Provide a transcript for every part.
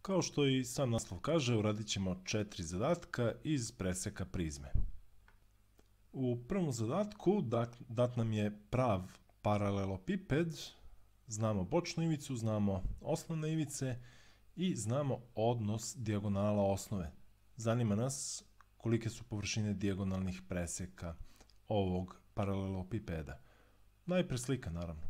Kao što i sam naslov kaže, uradit ćemo 4 zadatka iz preseka prizme. U prvom zadatku dat nam je prav paralelopiped, znamo bočnu ivicu, znamo osnovne ivice i znamo odnos dijagonala osnove. Zanima nas kolike su površine dijagonalnih preseka ovog paralelopipeda. Najpre slika, naravno.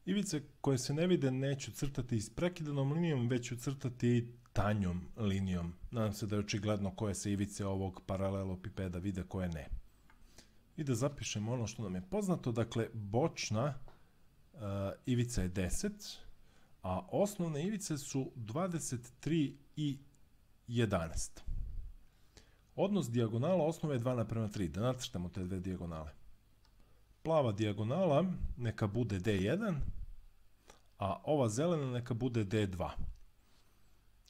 Ivice koje se ne vide neću crtati isprekidanom linijom, već ću crtati tanjom linijom. Nadam se da je očigledno koje se ivice ovog paralelopipeda vide, koje ne. I da zapišemo ono što nam je poznato. Dakle, bočna ivica je 10, a osnovne ivice su 23 i 11. Odnos dijagonala osnove je 2:3. Da nacrtamo te dve dijagonale. Plava dijagonala neka bude D1, a ova zelena neka bude D2.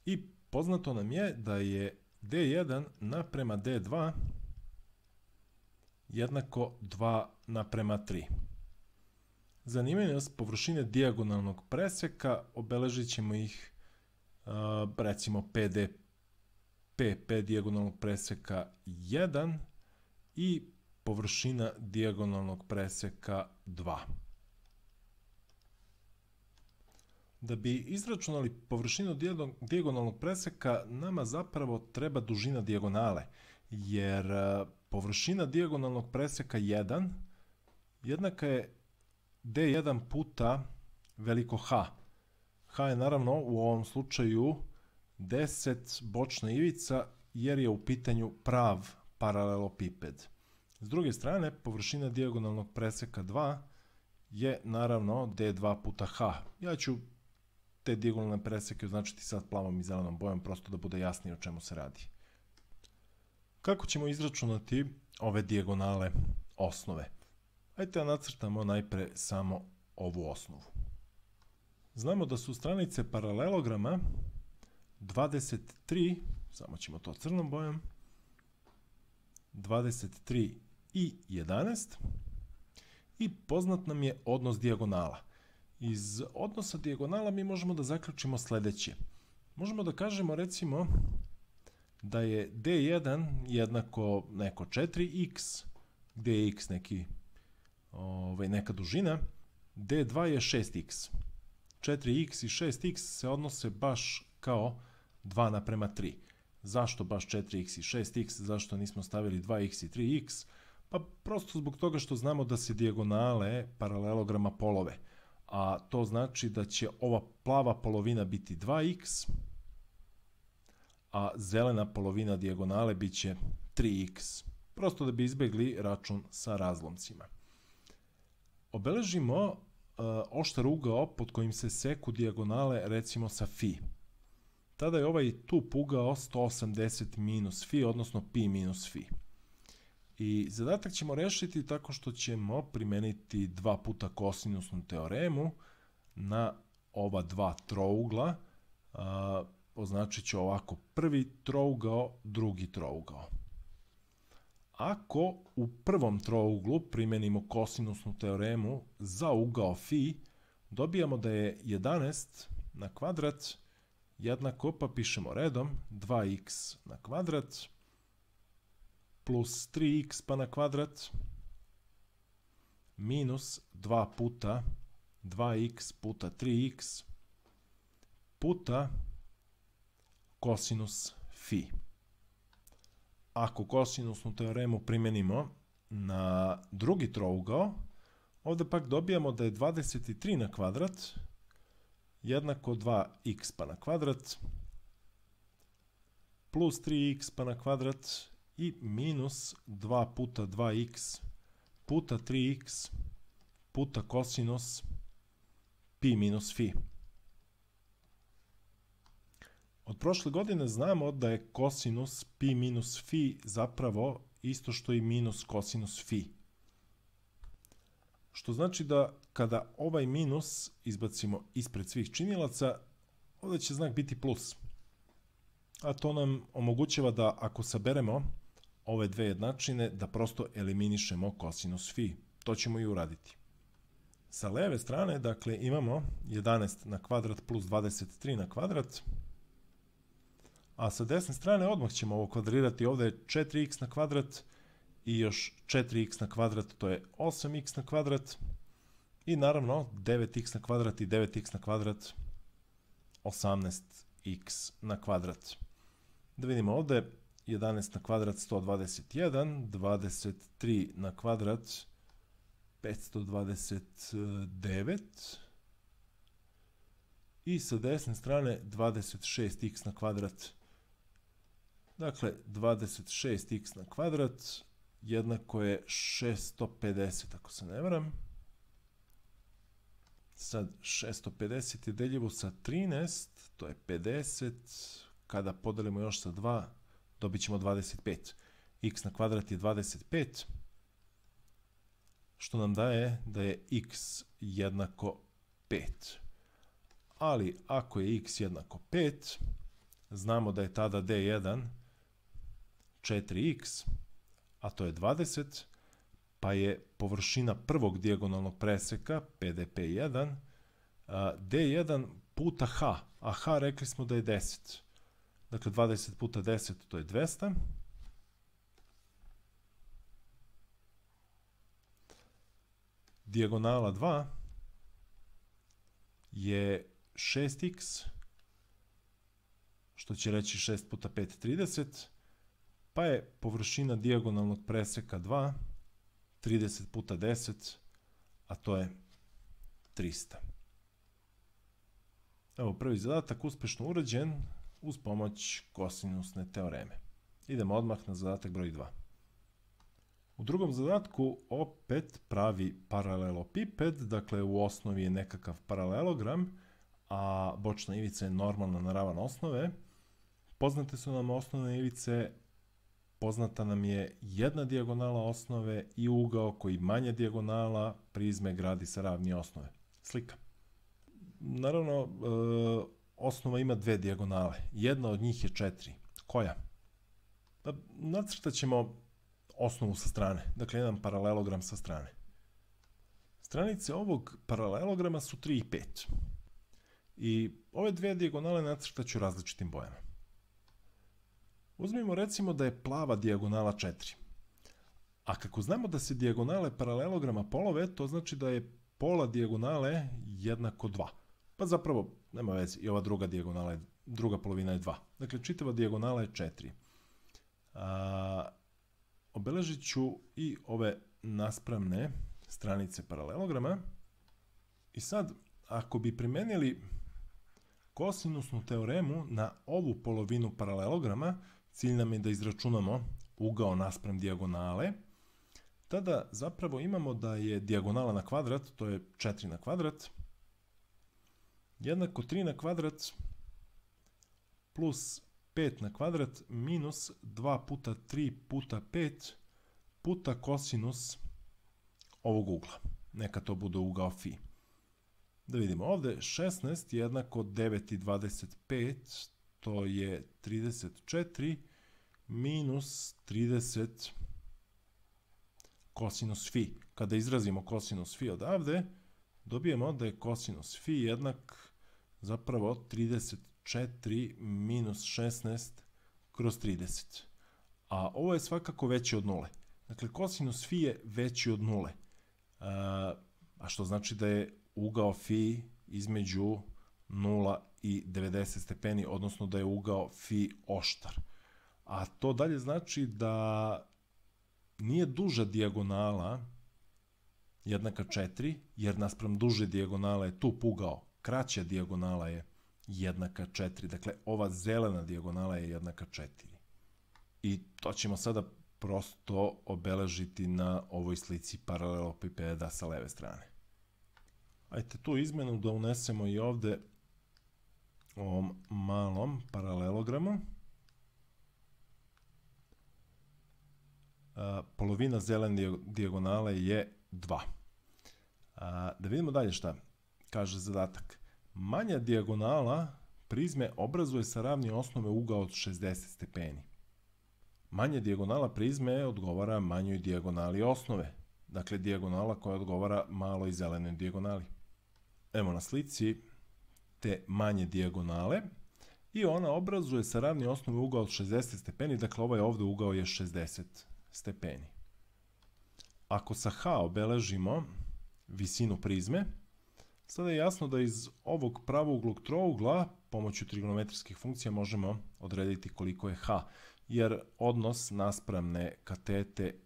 I poznato nam je da je D1 naprema D2 jednako 2:3. Zanimaju nas površine dijagonalnog preseka, obeležit ćemo ih recimo P dijagonalnog preseka 1 i površina dijagonalnog preseka 2. Da bi izračunali površinu dijagonalnog preseka, nama zapravo treba dužina dijagonale, jer površina dijagonalnog preseka 1 jednaka je D1 puta veliko H. H je naravno u ovom slučaju 10 bočna ivica, jer je u pitanju prav paralelopiped. S druge strane, površina dijagonalnog preseka 2 je naravno D2 puta H. Ja ću te dijagonalne preseke označiti sad plavom i zelenom bojom, prosto da bude jasnije o čemu se radi. Kako ćemo izračunati ove dijagonale osnove? Hajde da nacrtamo najpre samo ovu osnovu. Znamo da su stranice paralelograma 23, samo ćemo to crnom bojom, 23 i 11 i poznat nam je odnos dijagonala. Iz odnosa dijagonala mi možemo da zaključimo sledeće. Možemo da kažemo recimo da je D1 jednako neko 4x, gde je x neka dužina, D2 je 6x. 4x i 6x se odnose baš kao 2:3. Zašto baš 4x i 6x? Zašto nismo stavili 2x i 3x? Pa prosto zbog toga što znamo da se dijagonale paralelograma polove. A to znači da će ova plava polovina biti 2x, a zelena polovina dijagonale bit će 3x. Prosto da bi izbegli račun sa razlomcima. Obeležimo oštar ugao pod kojim se seku dijagonale recimo sa φ. Tada je ovaj tup ugao 180 minus φ, odnosno pi minus φ. I zadatak ćemo rešiti tako što ćemo primeniti 2 puta kosinusnu teoremu na ova dva trougla. Označit ću ovako prvi trougao, drugi trougao. Ako u prvom trouglu primenimo kosinusnu teoremu za ugao φ, dobijamo da je 11 na kvadrat jednako, pa pišemo redom, 2x na kvadrat plus 3x pa na kvadrat minus 2 puta 2x puta 3x puta kosinus φ. Ako kosinusnu teoremu primenimo na drugi trougao, ovde pak dobijamo da je 23 na kvadrat jednako 2x pa na kvadrat plus 3x pa na kvadrat i minus 2 puta 2x puta 3x puta kosinus pi minus φ. Od prošle godine znamo da je kosinus pi minus φ zapravo isto što i minus kosinus φ. Što znači da kada ovaj minus izbacimo ispred svih činilaca, ovdje će znak biti plus. A to nam omogućava da ako saberemo ove dve jednačine, da prosto eliminišemo kosinus φ. To ćemo i uraditi. Sa leve strane, dakle, imamo 11 na kvadrat plus 23 na kvadrat, a sa desne strane odmah ćemo ovo kvadrirati. Ovdje je 4x na kvadrat i još 4x na kvadrat, to je 8x na kvadrat. I naravno 9x na kvadrat i 9x na kvadrat, 18x na kvadrat. Da vidimo ovdje, 11 na kvadrat 121, 23 na kvadrat 529 i sa desne strane 26x na kvadrat. Dakle, 26x na kvadrat jednako je 650, ako se ne varam. Sad 650 je deljivo sa 13, to je 50, kada podelimo još sa 2, dobit ćemo 25. X na kvadrat je 25, što nam daje da je x jednako 5. Ali ako je x jednako 5, znamo da je tada d1 4x, a to je 20, pa je površina prvog dijagonalnog preseka, PDP1, d1 puta h, a h rekli smo da je 10. Dakle, 20 puta 10, to je 200. Dijagonala 2 je 6x, što će reći 6 puta 5, 30, pa je površina dijagonalnog preseka 2, 30 puta 10, a to je 300. Evo, prvi zadatak uspešno urađen uz pomoć kosinusne teoreme. Idemo odmah na zadatak broj 2. U drugom zadatku opet pravi paralelopiped, dakle u osnovi je nekakav paralelogram, a bočna ivica je normalna na ravan osnove. Poznate su nam osnovne ivice, poznata nam je jedna dijagonala osnove i ugao koji manja dijagonala prizme gradi sa ravni osnove. Slika. Naravno, osnova ima dve dijagonale. Jedna od njih je 4. Koja? Nacrtat ćemo osnovu sa strane. Dakle, jedan paralelogram sa strane. Stranice ovog paralelograma su 3 i 5. I ove dve dijagonale nacrtat ću različitim bojama. Uzmimo recimo da je plava dijagonala 4. A kako znamo da se dijagonale paralelograma polove, to znači da je pola dijagonale jednako 2. Pa zapravo, nema veze, i ova druga polovina je 2. Dakle, čitava dijagonala je 4. Obeležit ću i ove naspravne stranice paralelograma. I sad, ako bi primenili kosinusnu teoremu na ovu polovinu paralelograma, cilj nam je da izračunamo ugao naspram dijagonale, tada zapravo imamo da je dijagonala na kvadrat, to je 4 na kvadrat, jednako 3 na kvadrat plus 5 na kvadrat minus 2 puta 3 puta 5 puta kosinus ovog ugla. Neka to bude ugao φ. Da vidimo ovdje, 16 jednako 9 i 25, to je 34 minus 30 kosinus φ. Kada izrazimo kosinus φ odavde, dobijemo da je kosinus φ jednak zapravo 34 minus 16 kroz 30. A ovo je svakako veće od nule. Dakle, kosinus φ je veći od nule. A što znači da je ugao φ između 0 i 90 stepeni, odnosno da je ugao φ oštar. A to dalje znači da nije duža dijagonala jednaka 4, jer naspram duže dijagonale je tu ugao, kraća dijagonala je jednaka 4. Dakle, ova zelena dijagonala je jednaka 4. I to ćemo sada prosto obeležiti na ovoj slici paralelopipeda sa leve strane. Ajde tu izmenu da unesemo i ovde ovom malom paralelogramu. Polovina zelene dijagonale je 2. Da vidimo dalje šta kaže zadatak. Manja dijagonala prizme obrazuje sa ravni osnove ugao od 60 stepeni. Manja dijagonala prizme odgovara manjoj dijagonali osnove. dakle dijagonala koja odgovara maloj zelenoj dijagonali. Evo na slici te manje dijagonale i ona obrazuje sa ravni osnovi ugao od 60 stepeni, dakle ovaj ovdje ugao je 60 stepeni. Ako sa H obeležimo visinu prizme, sada je jasno da iz ovog pravouglog trougla pomoću trigonometrijskih funkcija možemo odrediti koliko je H, jer odnos naspramne katete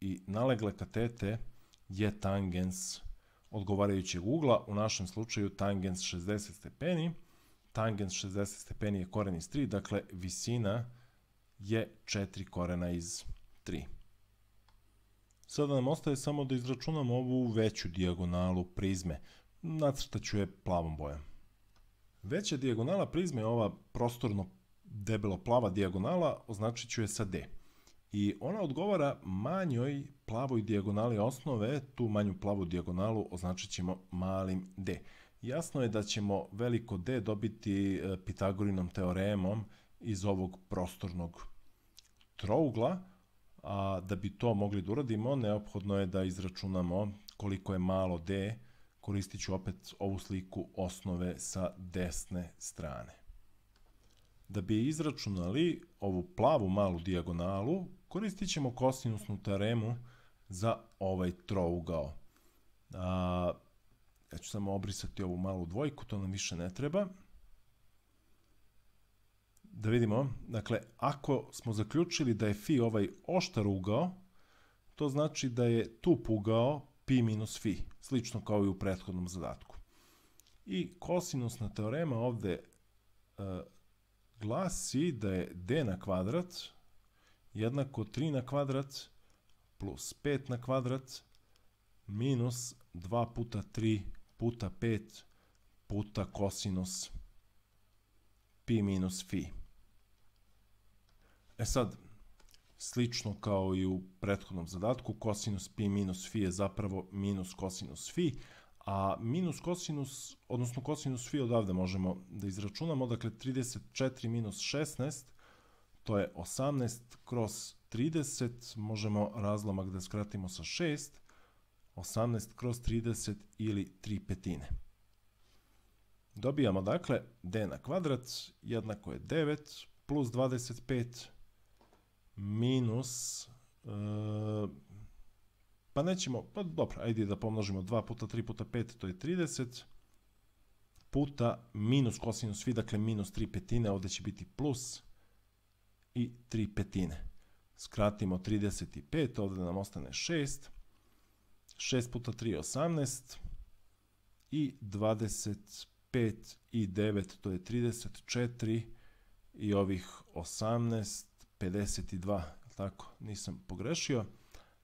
i nalegle katete je tangens odgovarajućeg ugla, u našem slučaju tangens 60 stepeni. Tangens 60 stepeni je koren iz 3, dakle visina je 4 korena iz 3. Sada nam ostaje samo da izračunamo ovu veću dijagonalu prizme. Nacrtat ću je plavom bojom. Veća dijagonala prizme je ova prostorno debelo plava dijagonala, označit ću je sa D. I ona odgovara manjoj plavoj dijagonali osnove, tu manju plavu dijagonalu označit ćemo malim d. Jasno je da ćemo veliko D dobiti Pitagorinom teoremom iz ovog prostornog trougla, a da bi to mogli da uradimo, neophodno je da izračunamo koliko je malo D, koristit ću opet ovu sliku osnove sa desne strane. Da bi izračunali ovu plavu malu dijagonalu, koristit ćemo kosinusnu teoremu za ovaj trougao. Ja ću samo obrisati ovu malu dvojku, to nam više ne treba. Da vidimo, dakle, ako smo zaključili da je φ ovaj oštar ugao, to znači da je tup ugao pi minus φ, slično kao i u prethodnom zadatku. I kosinusna teorema ovdje glasi da je d na kvadrat jednako 3 na kvadrat plus 5 na kvadrat minus 2 puta 3 puta 5 puta kosinus pi minus φ. Sad, slično kao i u prethodnom zadatku, kosinus pi minus φ je zapravo minus kosinus φ, a minus kosinus, odnosno kosinus φ odavde možemo da izračunamo, dakle 34 minus 16, to je 18 kroz 30, možemo razlomak da skratimo sa 6, 18 kroz 30 ili 3/5. Dobijamo dakle d na kvadrat jednako je 9 plus 25 minus, pa nećemo, pa dobro, ajde da pomnožimo 2 puta 3 puta 5, to je 30, puta minus kosinus φ, dakle minus 3/5, ovdje će biti plus i 3/5. Skratimo 35, ovdje nam ostane 6, 6 puta 3 je 18 i 25 i 9, to je 34 i ovih 18, 52, tako, nisam pogrešio,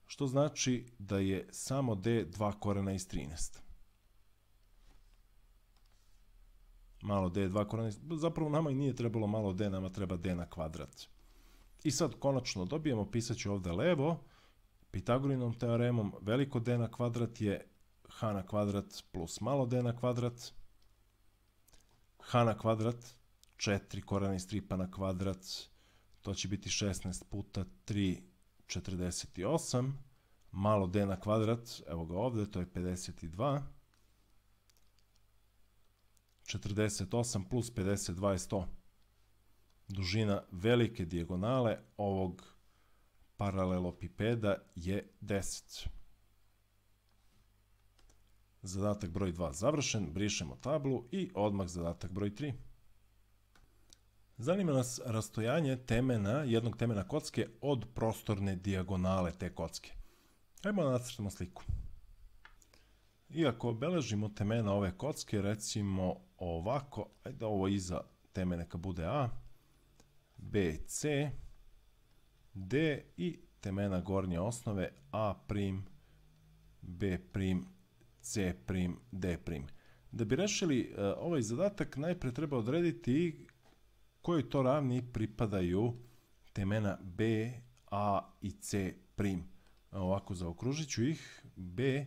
što znači da je samo d 2 korena iz 13. Malo d 2 korena iz, zapravo nama i nije trebalo malo d, nama treba d na kvadrat. I sad konačno dobijemo, pisat ću ovdje levo, Pitagorinom teoremom veliko d na kvadrat je h na kvadrat plus malo d na kvadrat, h na kvadrat 4 korena iz 3 pa na kvadrat, to će biti 16 puta 3, 48, malo d na kvadrat, evo ga ovdje, to je 52, 48 plus 52 je 100. Dužina velike dijagonale ovog paralelopipeda je 10. Zadatak broj 2 završen, brišemo tablu i odmah zadatak broj 3. Zanima nas rastojanje jednog temena kocke od prostorne dijagonale te kocke. Ajmo da nacrtamo sliku. Iako obeležimo temena ove kocke, recimo ovako, ajde ovo iza teme neka bude A, B, C, D i temena gornje osnove A', B', C', D'. Da bi rešili ovaj zadatak, najpre treba odrediti kojoj to ravni pripadaju temena B, A i C'. Ovako zaokružit ću ih B,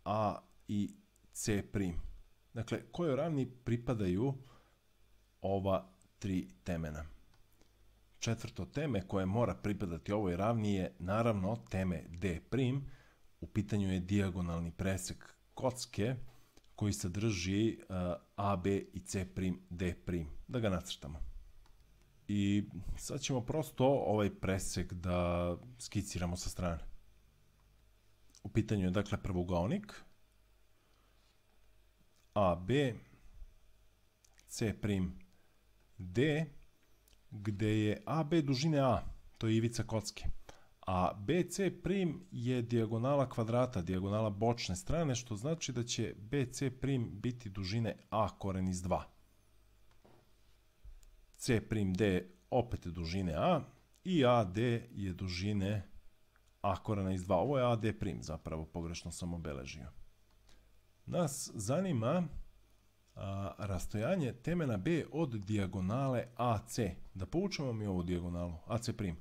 A i C'. Dakle, kojoj ravni pripadaju ova tri temena. Četvrto teme koje mora pripadati ovoj ravni je naravno teme D', U pitanju je dijagonalni presek kocke koji sadrži AB i C'D'. Da ga nacrtamo. I sad ćemo prosto ovaj presek da skiciramo sa strane. U pitanju je dakle prvougao AB, C'D, gde je AB dužine A, to je ivica kocke, a BC' je dijagonala kvadrata, dijagonala bočne strane, što znači da će BC' biti dužine A koren iz 2. C'D opet dužine A i AD je dužine A korena iz 2. Ovo je AD', zapravo pogrešno sam obeležio. Nas zanima rastojanje temena B od dijagonale AC. Da povučemo mi ovu dijagonalu, AC'.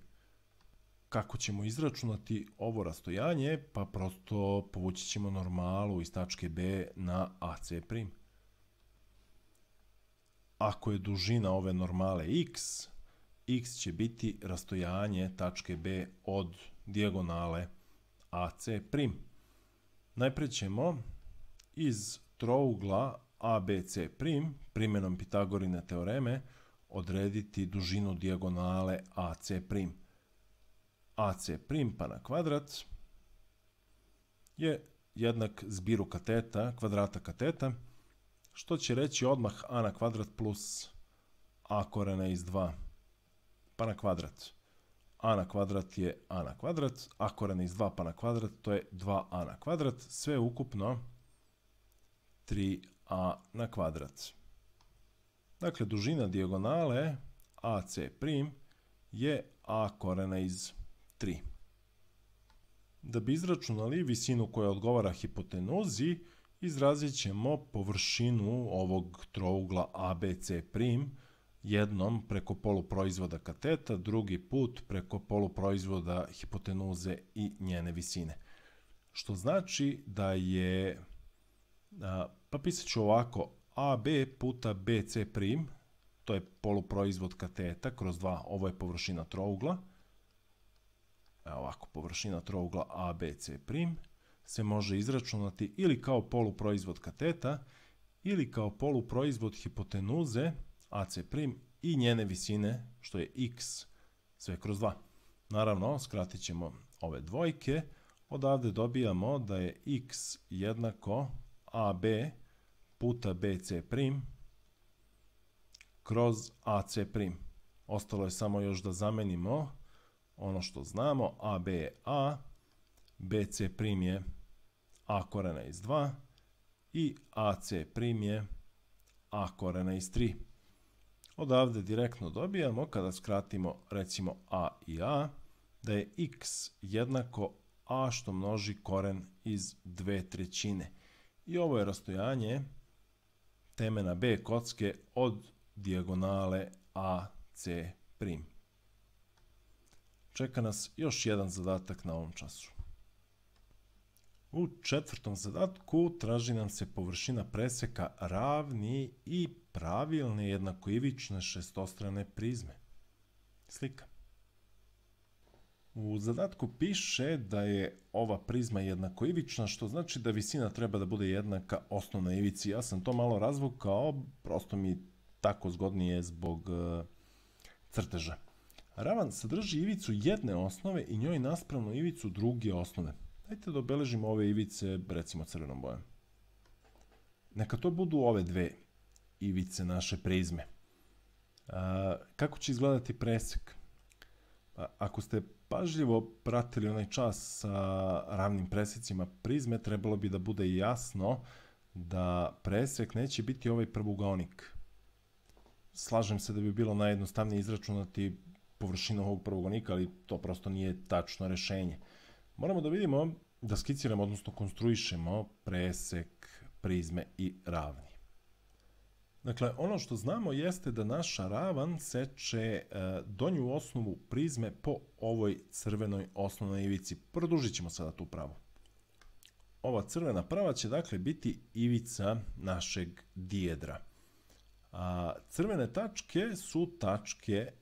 Kako ćemo izračunati ovo rastojanje? Pa prosto povući ćemo normalu iz tačke B na AC'. Ako je dužina ove normale x, x će biti rastojanje tačke B od dijagonale AC'. Najpre ćemo iz trougla ABC', primjenom Pitagorine teoreme, odrediti dužinu dijagonale AC'. AC' pa na kvadrat je jednak zbiru kateta, kvadrata kateta, što će reći odmah a na kvadrat plus a korena iz 2 pa na kvadrat. A na kvadrat je a na kvadrat, a korena iz 2 pa na kvadrat, to je 2a na kvadrat, sve ukupno 3a na kvadrat. Dakle, dužina dijagonale AC' je a korena iz 3. Da bi izračunali visinu koja odgovara hipotenuzi, izrazit ćemo površinu ovog trougla ABC', jednom preko poluproizvoda kateta, drugi put preko poluproizvoda hipotenuze i njene visine. Što znači da je, pa pisat ću ovako, AB puta BC', to je poluproizvod kateta kroz 2, ovo je površina trougla, ovako, površina trougla ABC' se može izračunati ili kao poluproizvod kateta ili kao poluproizvod hipotenuze AC' i njene visine, što je x sve kroz 2. Naravno, skratit ćemo ove dvojke, odavde dobijamo da je x jednako AB puta BC' kroz AC'. Ostalo je samo još da zamenimo ono što znamo, AB je A, BC' je A korena iz 2 i AC' je A korena iz 3. Odavde direktno dobijamo, kada skratimo recimo A i A, da je x jednako A što množi koren iz 2/3. I ovo je rastojanje temena B kocke od dijagonale AC'. Čeka nas još jedan zadatak na ovom času. U četvrtom zadatku traži nam se površina preseka ravni i pravilne jednakoivične šestostrane prizme. Slika. U zadatku piše da je ova prizma jednakoivična, što znači da visina treba da bude jednaka osnovnoj ivici. Ja sam to malo razvukao, prosto mi tako zgodnije zbog crteža. Ravan sadrži ivicu jedne osnove i njoj naspravnu ivicu druge osnove. Dajte da obeležimo ove ivice, recimo crvenom bojom. Neka to budu ove dve ivice naše prizme. Kako će izgledati presek? Ako ste pažljivo pratili onaj čas sa ravnim presecima prizme, trebalo bi da bude jasno da presek neće biti ovaj prvougaonik. Slažem se da bi bilo najjednostavnije izračunati površinu ovog prvougaonika, ali to prosto nije tačno rešenje. Moramo da vidimo, da skiciramo, odnosno konstruišemo presek prizme i ravni. Dakle, ono što znamo jeste da naša ravan seče donju osnovu prizme po ovoj crvenoj osnovnoj ivici. Produžit ćemo sada tu pravu. Ova crvena prava će dakle biti ivica našeg dijedra. Crvene tačke su tačke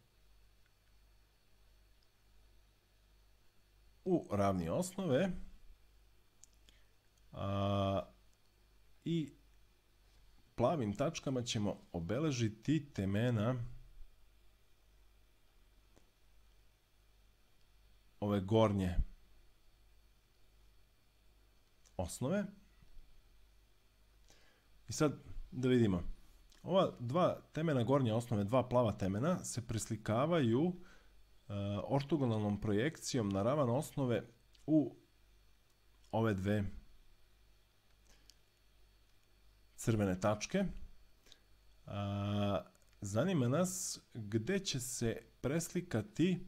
u ravni osnove I plavim tačkama ćemo obeležiti temena ove gornje osnove. I sad da vidimo, ova dva temena gornje osnove, dva plava temena se preslikavaju ortogonalnom projekcijom na ravan osnove u ove dve crvene tačke. Zanima nas gde će se preslikati,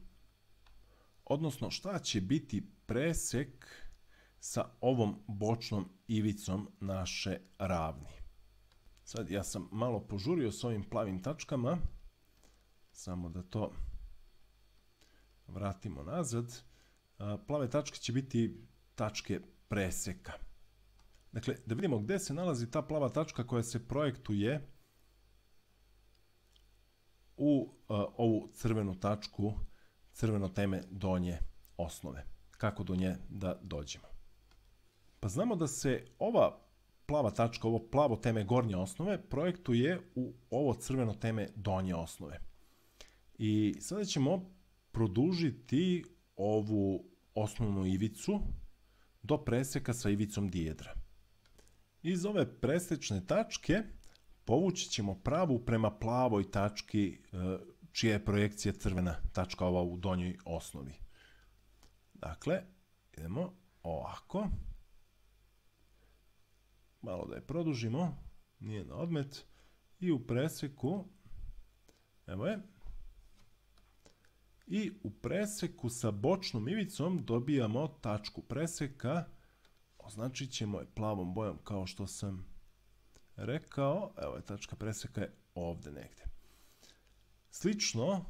odnosno šta će biti presek sa ovom bočnom ivicom naše ravni. Sad ja sam malo požurio s ovim plavim tačkama, samo da to vratimo nazad. Plave tačke će biti tačke preseka. Dakle, da vidimo gde se nalazi ta plava tačka koja se projektuje u ovu crvenu tačku, crveno teme donje osnove. Kako do nje da dođemo? Pa znamo da se ova plava tačka, ovo plavo teme gornje osnove, projektuje u ovo crveno teme donje osnove. I sada ćemo produžiti ovu osnovnu ivicu do preseka sa ivicom dijedra. Iz ove presečne tačke povući ćemo pravu prema plavoj tački čija je projekcija crvena tačka ova u donjoj osnovi. Dakle, idemo ovako. Malo da je produžimo, nije na odmet. I u preseku, evo je, i u preseku sa bočnom ivicom dobijamo tačku preseka. Označit ćemo je plavom bojom kao što sam rekao. Evo je, tačka preseka je ovde negde. Slično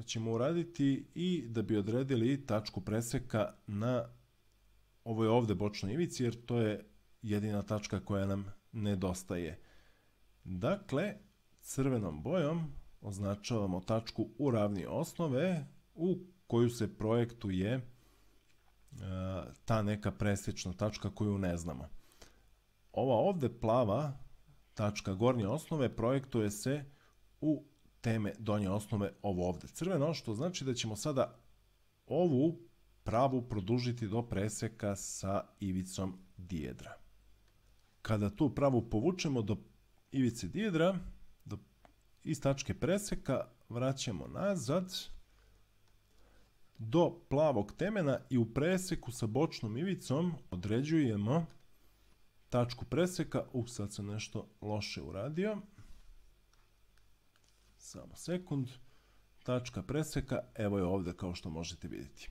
ćemo uraditi i da bi odredili tačku preseka na ovoj ovde bočnoj ivici, jer to je jedina tačka koja nam nedostaje. Dakle, crvenom bojom označavamo tačku u ravni osnove u koju se projektuje ta neka presečna tačka koju ne znamo. Ova ovde plava tačka gornje osnove projektuje se u teme donje osnove ovo ovde crveno, što znači da ćemo sada ovu pravu produžiti do preseka sa ivicom dijedra. Kada tu pravu povučemo do ivice dijedra, iz tačke preseka vraćamo nazad do plavog temena i u preseku sa bočnom ivicom određujemo tačku preseka. Sad sam nešto loše uradio. Samo sekund. Tačka preseka, evo je ovde kao što možete vidjeti.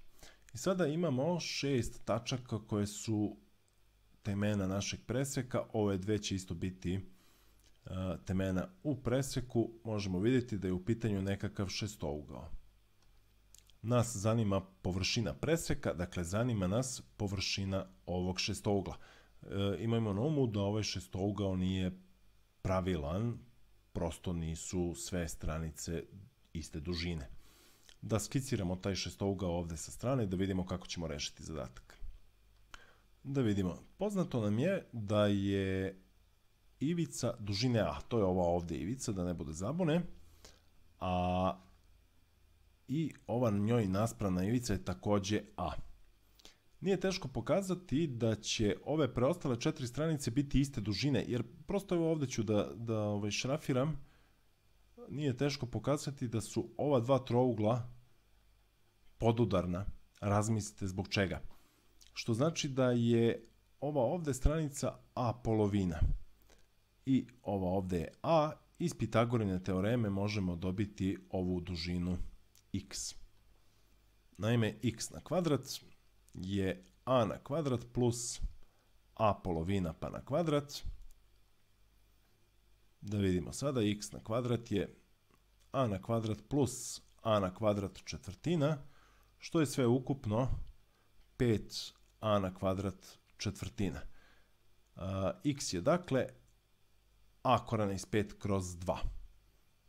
I sada imamo 6 tačaka koje su temena našeg preseka. Ove dve će isto biti temena u preseku. Možemo vidjeti da je u pitanju nekakav šestougao. Nas zanima površina preseka, dakle zanima nas površina ovog šestougla. Imajmo na umu da ovaj šestougao nije pravilan, prosto nisu sve stranice iste dužine. Da skiciramo taj šestougao ovde sa strane da vidimo kako ćemo rešiti zadatak. Da vidimo, poznato nam je da je ivica dužine A, to je ova ovde ivica, da ne bude zabune, a i ova njoj naspravna ivica je takođe A. Nije teško pokazati da će ove preostale 4 stranice biti iste dužine, jer prosto evo ovde ću da šrafiram. Nije teško pokazati da su ova dva trougla podudarna. Razmislite zbog čega. Što znači da je ova ovde stranica A polovina i ova ovde je A. Iz Pitagorine teoreme možemo dobiti ovu dužinu x. Naime, x na kvadrat je a na kvadrat plus a polovina pa na kvadrat. Da vidimo sada, x na kvadrat je a na kvadrat plus a na kvadrat četvrtina, što je sve ukupno 5a na kvadrat četvrtina. X je dakle a korena iz 5 kroz 2.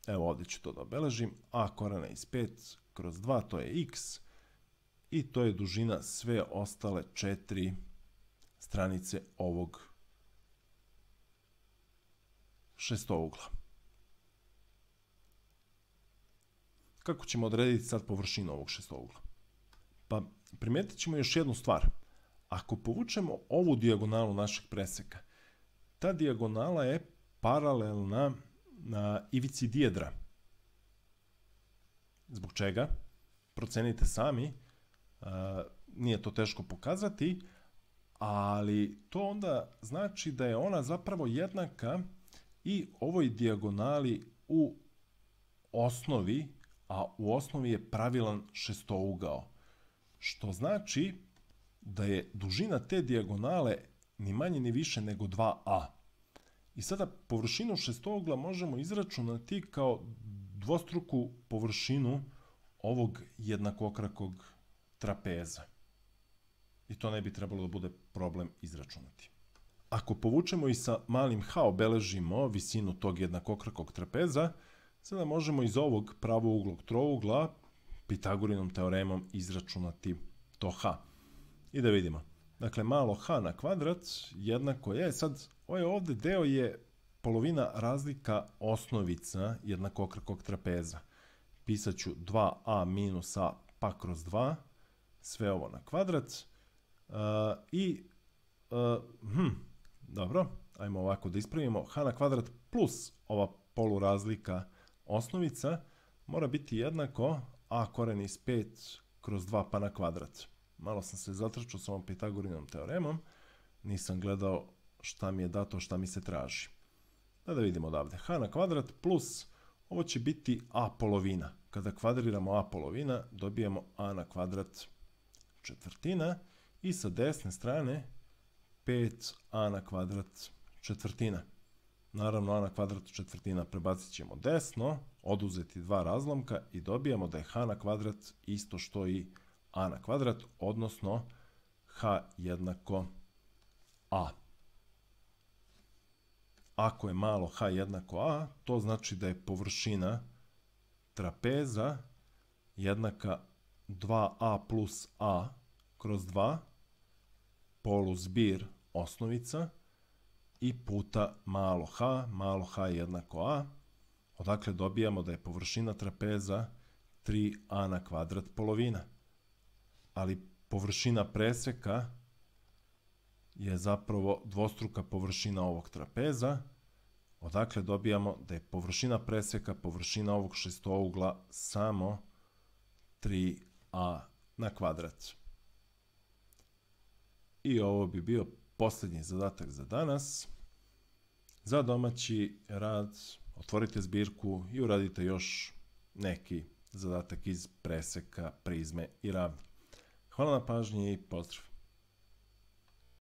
Evo ovdje ću to da obeležim. A korena iz 5 kroz 2, to je x. I to je dužina sve ostale 4 stranice ovog šestougla. Kako ćemo odrediti sad površinu ovog šestougla? Pa primijetit ćemo još jednu stvar. Ako povučemo ovu dijagonalu našeg preseka, ta dijagonala je paralelna na ivici dijedra. Zbog čega? Procenite sami, nije to teško pokazati, ali to onda znači da je ona zapravo jednaka i ovoj dijagonali u osnovi, a u osnovi je pravilan šestougao. Što znači da je dužina te dijagonale ni manje ni više nego 2a. I sada površinu šestougla možemo izračunati kao dvostruku površinu ovog jednakokrakog trapeza. I to ne bi trebalo da bude problem izračunati. Ako povučemo i sa malim h obeležimo visinu tog jednakokrakog trapeza, sada možemo iz ovog pravouglog trougla Pitagorinom teoremom izračunati to h. I da vidimo. Dakle, malo h na kvadrat jednako je, sad ovaj ovdje deo je polovina razlika osnovica jednakokrakog trapeza. Pisat ću 2a minus a pa kroz 2, sve ovo na kvadrat. Dobro, ajmo ovako da ispravimo. H na kvadrat plus ova polurazlika osnovica mora biti jednako a koren iz 5 kroz 2 pa na kvadrat. Malo sam se zatrčao s ovom Pitagorinom teoremom, nisam gledao šta mi je dato, šta mi se traži. Da vidimo odavde. H na kvadrat plus, ovo će biti a polovina. Kada kvadriramo a polovina, dobijemo a na kvadrat četvrtina i sa desne strane 5a na kvadrat četvrtina. Naravno, a na kvadrat četvrtina prebacit ćemo desno, oduzeti dva razlomka i dobijemo da je h na kvadrat isto što i a na kvadrat, odnosno h jednako a. Ako je malo h jednako a, to znači da je površina trapeza jednaka 2a plus a kroz 2 poluzbir osnovica i puta malo h jednako a, odakle dobijamo da je površina trapeza 3a na kvadrat polovina. Ali površina preseka je zapravo dvostruka površina ovog trapeza, odakle dobijamo da je površina preseka, površina ovog šestougla samo 3a na kvadrat. I ovo bi bio posljednji zadatak za danas. Za domaći rad otvorite zbirku i uradite još neki zadatak iz preseka, prizme i ravni. Hvala na pažnji i pozdrav!